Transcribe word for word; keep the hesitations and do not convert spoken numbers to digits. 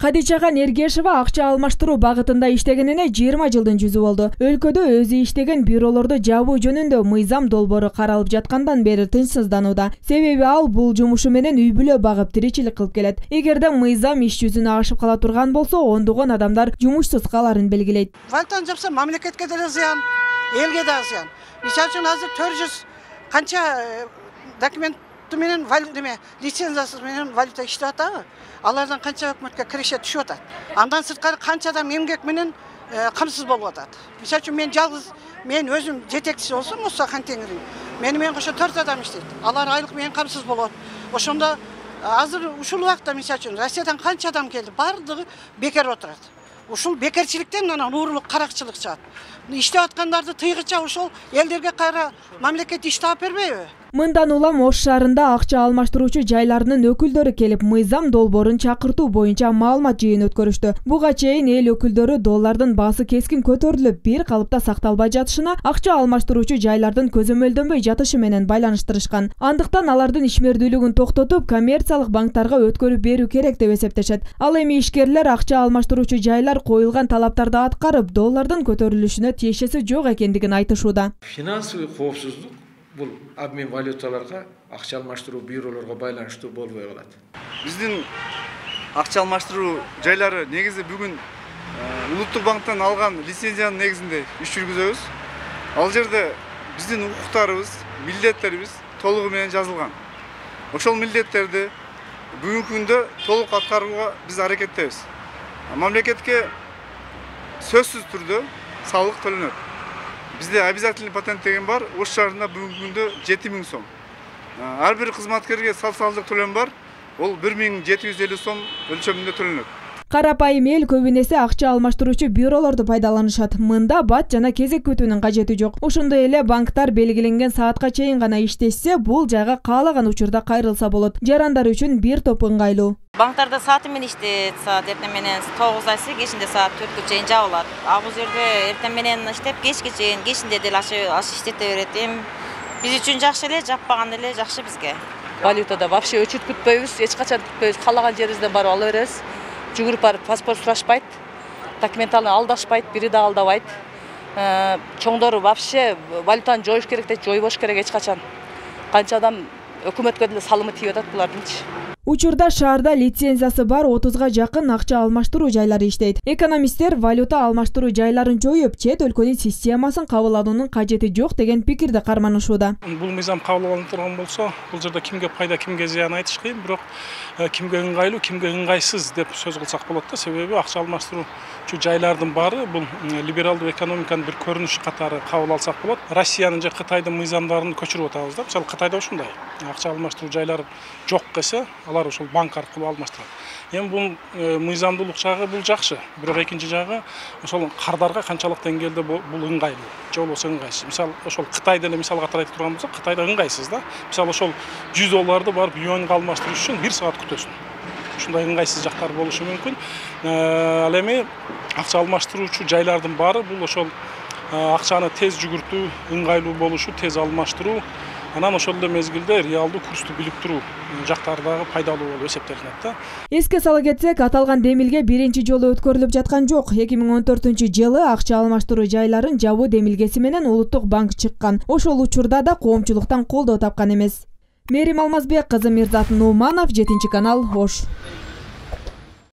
Кадичаган Эргешова акча алмаштыруу багытында иштегенине жыйырма жылдын жүзү болду. Өлкөдө өзү иштеген бюролорду жабуу жөнүндө мыйзам долбоору каралып жаткандан бери тынчсызданууда. Себеби ал бул жумушу менен үй бүлө багып тиричилик кылып келет. Эгерде мыйзам иш жүзүнө ашып кала турган болсо, ондогон адамдар жумушсуз каларын белгилейт. Валютаны жапса, мамлекетке деле зыян, элге да зыян. Мисалы үчүн азыр төрт жүз канча документ менен валюта лицензиясыз менен валюта иштеп атабы? Алардан канча өкмөткө киреше түшүп атат. Андан сырткары канча адам эмгек менен камсыз болуп атат. Мисалы үчүн мен жалгыз, мен өзүм жетекчиси болсом, Муса Хантеңирин, мени менен кошо төрт адам иштейт. Алар айлык менен камсыз болот. Ошондо азыр ушул убакта мисалы үчүн Россиядан канча адам келди, бардыгы бекер отурат. Ушул бекерчиликтен анан уурулук, каракчылык чыгат. Иштеп аткандарды тыйгыча ошол элдерге кайра мамлекет иш таап бербейби? Мындан улам Ош шаарында акча алмаштыруучу жайларынын өкүлдөрү келип, мыйзам долбоорун чакыртуу боюнча маалымат жыйын өткөрүштү. Буга чейин эл өкүлдөрү доллардын баасы кескин көтөрүлүп, бир калыпта сакталбай жатышына акча алмаштыруучу жайлардын көзөмөлдөнбөй жатышы менен байланыштырышкан. Андыктан алардын ишмердүүлүгүн токтотуп, коммерциялык банктарга өткөрүп берүү керек деп эсептешет. Ал эми ишкерлер акча алмаштыруучу жайлар коюлган талаптарды аткарып, доллардын көтөрүлүшүнө тиешеси жок экендигин айтышууда. Финансовый коопсуздук бул обмен валюталарга, акча алмаштыруу бюролорго байланыштуу болбой калат. Биздин акча алмаштыруу жайлары негизи бүгүн улуттук банктан алган лицензиянын негизинде иш жүргүзөбүз. Ал жерде биздин укуктарыбыз, милдеттерибиз толугу менен жазылган. Ошол милдеттерди бүгүнкү күндө толук аткарууга биз аракеттебиз. Мамлекетке сөзсүз түрдө салык төлөнөт. Бизде обязательный патент деген бар. Ош шаарында бүгүнкү күндө жети миң сом. Ар бир кызматкерге социалдык төлөм бар. Ол бир миң жети жүз элүү сом өлчөмүндө төлөнөт. Карапайым эл көбүн эсе акча алмаштыруучу бюролорду пайдаланышат. Мында бат жана кезек күтүүнүн кажети жок. Ошондой эле банктар белгиленген саатка чейин гана иштешсе, бул жайга каалаган учурда кайрылса болот. Жарандар үчүн бир топ ыңгайлуу. Банктарда сааты менен иштейт, саат эртең менен тогузда кечинде саат төрткө чейин жабылат. А бул жерде эртең менен иштеп, кечке чейин, кечинде деле аш иштете берет. Эми биз үчүн жакшы эле, жаппаган эле жакшы бизге. Валютада вообще өчүт күтпөйбүз, эч качан күтпөйбүз. Каалаган жерибизден барып ала беребиз. Жүгүрүп барып паспорт сурашпайт, документалны алдашпайт, бири да алдабайт. Чоңдору вообще валютаны жоюш керек дейт, жойбош керек эч качан. Канча адам өкмөткө деле салымы тийип атат булардынчы. Учурда шаарда лицензиясы бар отузга жакын акча алмаштыруу жайлары иштейт. Экономисттер валюта алмаштыруу жайларын жоюп, чет өлкөнүн системасын кабыл алуунун кажети жок деген пикирди карманышууда. Бул мыйзам кабыл алынып турган болсо, бул жерде кимге пайда, кимге зыян айтыш кыйын, бирок кимге ыңгайлуу, кимге ыңгайсыз деп сөз кылсак болот да. Себеби акча алмаштыруучу жайлардын баары бул либералдуу экономиканын бир көрүнүшү катары кабыл алсак болот. Россиянын же Кытайдын мыйзамдарын көчүрүп атабыз да. Мисалы Кытайда ушундай. Акча алмаштыруу жайлары жок десе, алар ошол банк аркылуу алмаштырат. Эми бул мыйзамдуулук жагы бул жакшы. Бирок экинчи жагы ошол кардарга канчалык деңгээлде бул ыңгайлуу, же болбосо ыңгайсыз. Мисалы ошол Кытай деле мисалга тарайт турган болсок, Кытайда ыңгайсыз да. Мисалы ошол жүз долларды барып юаньга алмаштырыш үчүн бир саат күтөсүң. Ушундай ыңгайсыз жактар болушу мүмкүн. Ал эми акча алмаштыруучу жайлардын баары бул ошол акчаны тез жүгүртүү, ыңгайлуу болушу, тез алмаштыруу, анан ошол эле мезгилде реалдуу курсту билип туруу жактары дагы пайдалуу болуп эсептелинет да. Эске сала кетсек, аталган демилге биринчи жолу өткөрүлүп жаткан жок. эки миң он төртүнчү жылы акча алмаштыруу жайларын жабуу демилгеси менен Улуттук банк чыккан. Ошол учурда да коомчулуктан колдоо тапкан эмес. Мерим Алмазбек кызы, Мирзат Нуманов, жетинчи канал, Ош.